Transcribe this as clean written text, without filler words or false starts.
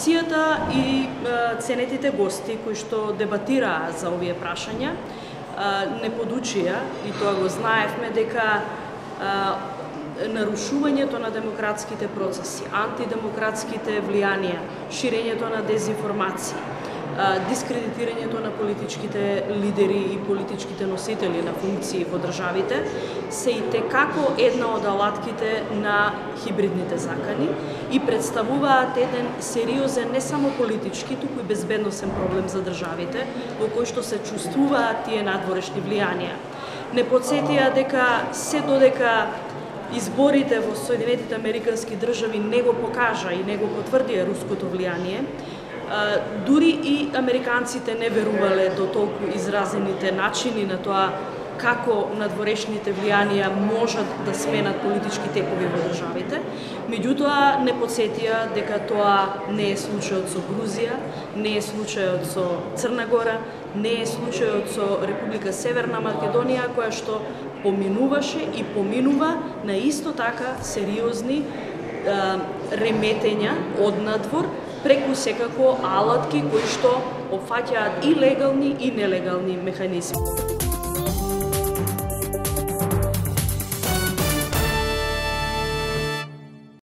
Комисијата и ценетите гости кои што дебатираа за овие прашања не подучија, и тоа го знаевме, дека нарушувањето на демократските процеси, антидемократските влијанија, ширењето на дезинформации, дискредитирањето на политичките лидери и политичките носители на функции во државите се и текако една од алатките на хибридните закани и представуваат еден сериозен не само политички, туку и безбедносен проблем за државите во кој што се чувствуваат тие надворешни влијанија. Не потсетија дека се додека изборите во Соединетите Американски држави не го покажа и не го потврдија руското влијание, дури и американците не верувале до толку изразените начини на тоа како надворешните влијанија можат да сменат политички текови во државите. Меѓутоа не потсетија дека тоа не е случајот со Грузија, не е случајот со Црна Гора, не е случајот со Република Северна Македонија, која што поминуваше и поминува на исто така сериозни реметења од надвор, преку секако алатки кои што опфаќаат и легални и нелегални механизми.